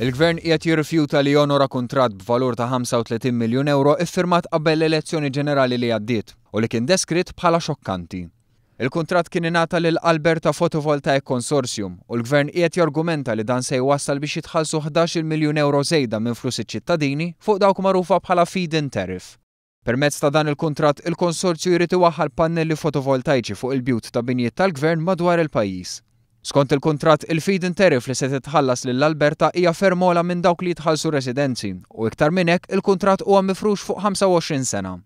Il-Gvern qiegħed jirrifjuta li jonora kuntratt b'valur ta' 35 miljun ewro iffirmat qabel l-elezzjoni ġenerali li għaddiet u li kien deskritt bħala xokkanti. Il-kuntratt kien ingħata lil Alberta Photovoltaic Consortium u l-Gvern qiegħed jargumenta li dan se jwassal biex jitħallsu 11-il miljun ewro żejda minn flus iċ-ċittadini fuq dawk magħrufa bħala feed-in tariff. Permezz ta' dan il-kuntratt, il-konsorzju jrid iwaħħal pannelli fotovoltajċi fuq il-bjut ta' binjiet tal-Gvern madwar il-pajjiż. Skont il-kuntratt, il-feed-in tariff li se titħallas lil Alberta hija ferm ogħla minn dawk li jitħallsu r-residenzi u iktar minn hekk il-kuntratt huwa mifrux fuq 25 sena.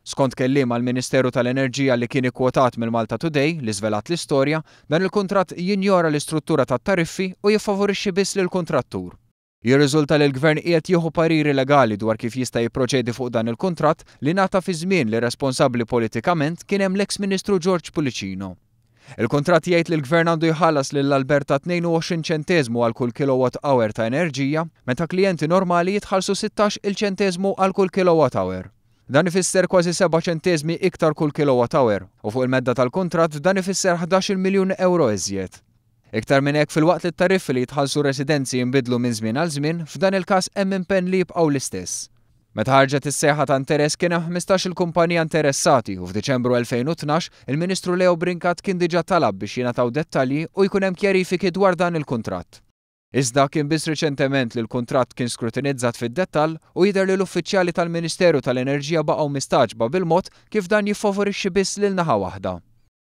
Skont kelliem għall-Ministeru tal-Enerġija li kien ikkwotat mill-Malta Today li żvelat l-istorja, dan il-kuntratt jinjora l-istruttura tat-tariffi u jiffavorixxi biss lill-kuntrattur. Jirriżulta li l-Gvern qiegħed jieħu pariri legali dwar kif jista' jipproċedi fuq dan il-kuntratt li ngħata fi żmien li responsabbli politikament kien hemm l-eks Ministru George Pullicino. Il-kuntratt jgħid li l-Gvern għandu jħallas lil Alberta 22 ċenteżmu għal kull kilowatt hour ta' enerġija, meta klijenti normali jitħallsu 16 il ċenteżmu għal kull kilowatt hour. Dan ifisser kważi seba' ċenteżmi iktar kull kilowatt hour u fuq il-medda tal-kuntratt dan ifisser 11-il miljun ewro iżjed. Iktar minn hekk, filwaqt li t-tariffi li jitħallsu r-residenzi jinbidlu minn żmien għal żmien, f'dan il-każ hemm impenn li jibqgħu l-istess. Meta ħarġet is-sejħa ta' interess kien hemm 15-il kumpanija interessati u f'Diċembru 2012 il-Ministru Leo Brincat kien diġà talab biex jingħataw dettalji u jkun hemm kjarifiki dwar dan il-kuntratt. Iżda, kien biss riċentement li l-kuntratt kien skrutinizzat fid-dettall u jidher li l-uffiċjali tal-Ministeru tal-Enerġija baqgħu mistagħġba bil-mod kif dan jiffavorixxi biss lil naħa waħda.